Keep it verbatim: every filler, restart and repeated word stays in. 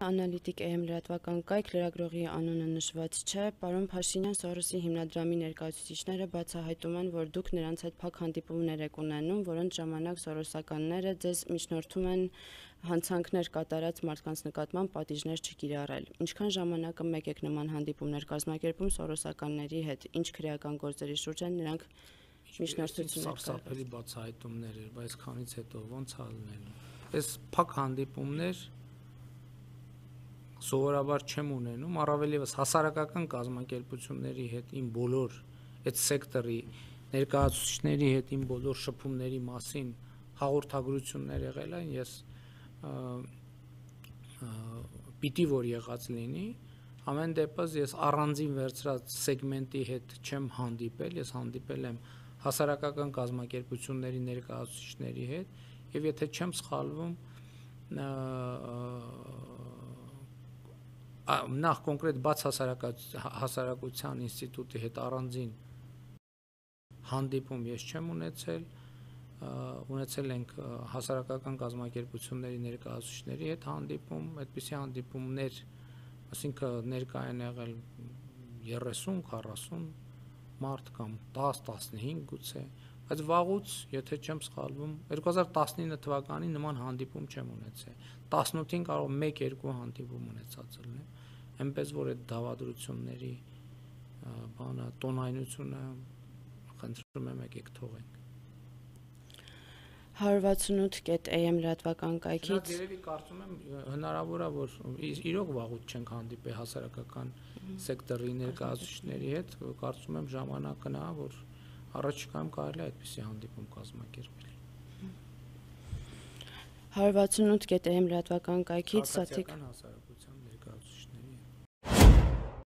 Անալիտիկ Է Էմ լրատվական կայք, լրագրողի անունը նշված չէ, պարոն Փաշինյան, Սորոսի հիմնադրամի ներկայացուցիչները բացահայտում են, որ դուք նրանց հետ փակ հանդիպումներ եք ունենում, որոնց ժամանակ սորոսականները ձեզ միջնորդում են հանցանքներ կատարած մարդկանց նկատմամբ պատիժներ չկիրառել։ Ինչքան ժամանակը մեկ եք նման հանդիպումներ կազմակերպում սորոսականների հետ, ինչ քրեական գործերի շուրջ են նրանք միջնորդություններ կատարել։ Բացահայտումներ էր, բայց քանից հետո ոնց հալնելու։ Այս փակ հանդիպումներ սովորաբար չեմ ունենում, առավել ևս հասարակական կազմակերպությունների հետ իմ բոլոր այդ սեկտորի ներկայացուցիչների հետ իմ բոլոր շփումների մասին հաղորդագրություններ եղել են, ես պիտի որ եղած լինի, ամեն դեպս ես առանձին վերցրած սեգմենտի հետ չեմ հանդիպել, ես հանդիպել եմ հասարակական կազմակերպությունների ներկայացուցիչների հետ, եւ եթե չեմ սխալվում, նախ կոնկրետ բաց հասարակության ինստիտուտի հետ առանձին հանդիպում ես չեմ ունեցել, ունեցել ենք հասարակական կազմակերպությունների ներկայացուցիչների հետ հանդիպում, այդպիսի հանդիպումներ, այսինքն ներկա են եղել երեսուն քառասուն մարդ կամ տաս տասնհինգ գուցե, բայց վաղուց, եթե չեմ սխալվում, երկու հազար տասնինը թվականին նման հանդիպում չեմ ունեցել, տասնութին կարող մեկ-երկու հանդիպում ունեցած լինեմ, այնպես որ այդ դավադրությունների բանը տոնայնությունը խնդրում եմ եկեք թողենք։ հարյուր վաթսունութ Է Էմ լրատվական կայքից երևի կարծում եմ հնարավոր է որ իրոք վաղուց չենք հանդիպել հասարակական սեկտորի ներկայացուցիչների հետ, կարծում եմ ժամանակն է, որ առաջիկայում կարելի է այդպիսի հանդիպում կազմակերպել։ հարյուր վաթսունութ Է Էմ լրատվական կայքից Սաթիկ